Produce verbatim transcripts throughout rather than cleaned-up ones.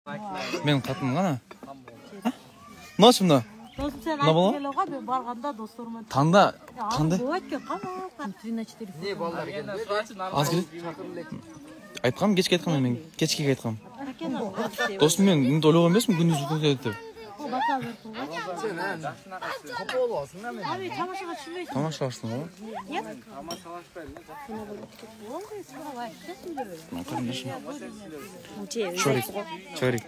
Мен катым гана. Ночь мына. Достum sen aytып келега мен барганда досторуман. Танда, кандай? Болот экен, кана три на четыре. Не балдар келди? Аз келет. Айткам, кечке айткам мен, кечке айткам. Достум мен мынтип ойлогон эмесмин, күндүз өтөт деп. Сен капа болосуң да мен. Abi тамашага түшүнбөйсүң. Тамашалаштың го? Нет? Тамашалашпайм Мен карындашым. Чорик. Чорик.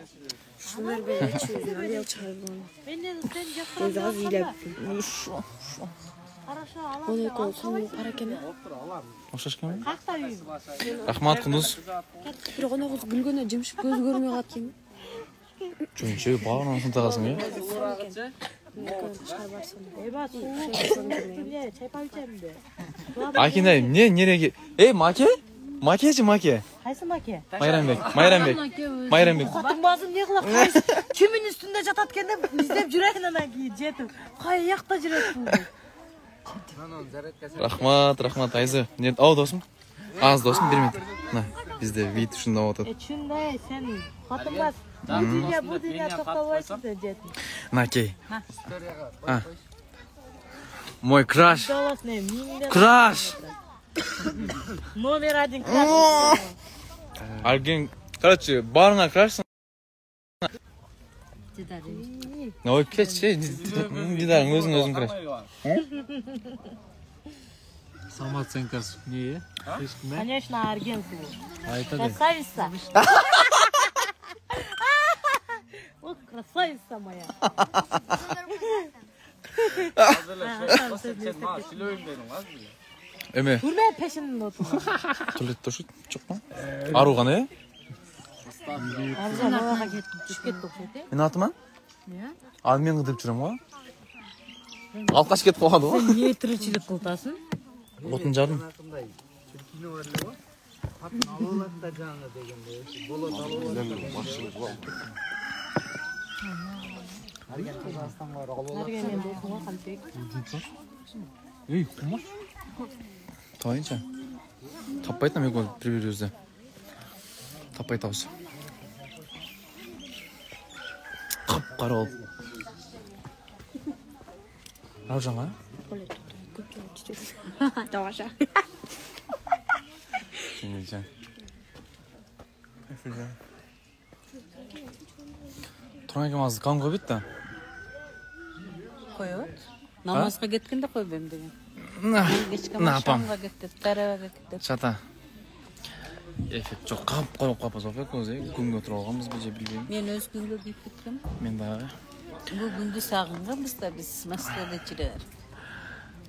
Шунlar böyle çözün, hadi yıl çağırın. Менден сен Biz az жактан. iyiler. Караша алам. Onu kolsun, para keme. Окшош кем? Какта үйүң? Рахмат, Кундуз. Bir ona kız gülgöne cimşik göz görmüyor katken. Чөнчө багынан сынтагасың э? Эба суу. Эмне, чайпап ичемби? Акинай, эмне нереге? Эй, Маке? Макечи, Маке. Кайсы маке? Майрамбек, Майрамбек. Майрамбек. Катыңбазым не кылат? Кайсы кимин үстүндө жатат экен деп издеп жүрөйүн анан кийин жетип. Кай жакта жүрөт бул? Рахмат, рахмат, Айзы. Не, ау досум? Аз досум, бир минут. На, бизде вид ушундай болуп Э, атат. чындай, сен катыңбаз. Бу дүйнө, бу дүйнө токтолбойсуң деп жетип. На, кей. А. Мой краш. Долос не, миңден. Краш! Номер один краш. Алген, короче, барыңа крашсың. Ой, кетші, дидарың өзің өзің краш. Самооценкасы не? Конечно, аргенсың. Айтады. Красавица. О, красавица моя. Эме, Көрмей пешинен отур. туалетте ушут, жокпу? Ару гана, э? Арзан абага кетип түшүп кетти окшойт, э? Мен атыма? Ал мен кыдырып жүрөм го. Алкаш кетип калды го. Эмне тиричилик кылтасың? Отун жардым. Нарген досуңа кантек. Эй, кумаш. Тайынча. Таппай атам экөө бири-бирибизди. Таппай атабыз. Кап-кара болуп. Раужанга? Даваша. Сиңилжан. Туран экемиз кан койбойт да. Коет. Намазга кеткенде койбойм деген. Кечке На, апам. машамга кетип, тарабага кетип. Чата. Эффект жок, кап коюп калпыз экөөбүз, э, күнгө туруп алганбызбы же билбейм. Мен өз күнгө кирип кеткем. Мен дагы. Бул күндү сагынганбыз да биз Москвада жүрөр.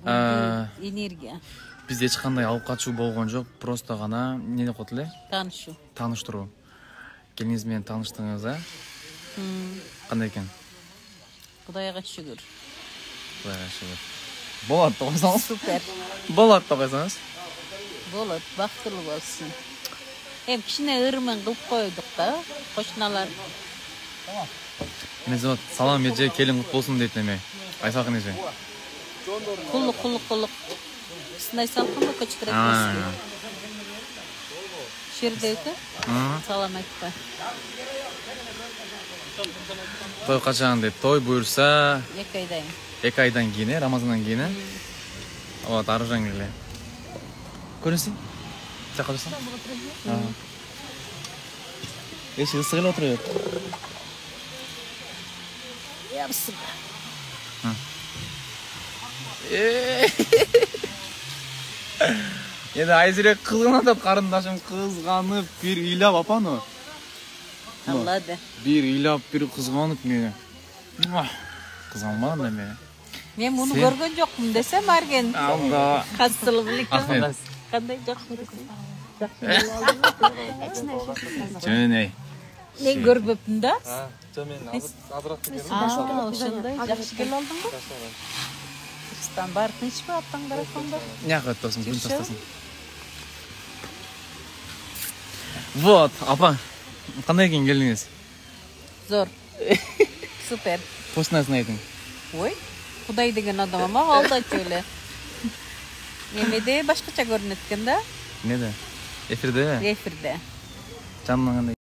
Аа, Энергия, бизде эч кандай алып качуу болгон жок, просто гана эмне деп коет эле? таанышуу. Тааныштыруу. Келиңиз менен тааныштыңыз, а? Кандай экен? Кудайга шүгүр. Кудайга шүгүр. Болот деп койсоңуз. Супер. Болот деп койсоңуз. Болот, бактылуу болсун. Эми кичине ырымын кылып койдук да, кошуналар. Мен зот салам эже, келин кут болсун дейт эме. Айсакын эже. Куллук, куллук, куллук. Сындай салкынбы көчкөрөт Аа. болсун. Шердеуте? Салам айтпа. Той качан деп, той буюрса Эки айдан. эки айдан кийин, э, Рамазандан кийин, э. Вот, Аружан келе. Көрүнсүң? Жакка турсаң? Эшик ысык эле отуруп атат. Япсың. Эди Айзирек кызганып атат, карындашым кызганып, бир ыйлап апаны. Аллады. Бир ыйлап, бир кызганып мени. Кызганмаган да мени. Мен муну көргөн жокмун десем арген. Алда. Кастылып элекем. Ахмет. Кандай жок? Жөнөй. Мен көрбөпмүн да. Жо мен азыраак келем. Аа, ошондой жакшы келип алдыңбы? Кыргызстан бар тынчпы аттаңдар ошондо? Жакка өтөсүң, күн тастасың. Вот, апа. Кандай экен келиңиз? Зор. Супер. Вкусносын айтың. Ой, Кудай деген адам ама алдачу эле. Эмеде башкача көрүнөт экен да? Эмнеде? Эфирде? Эфирде. Жанынан кандай?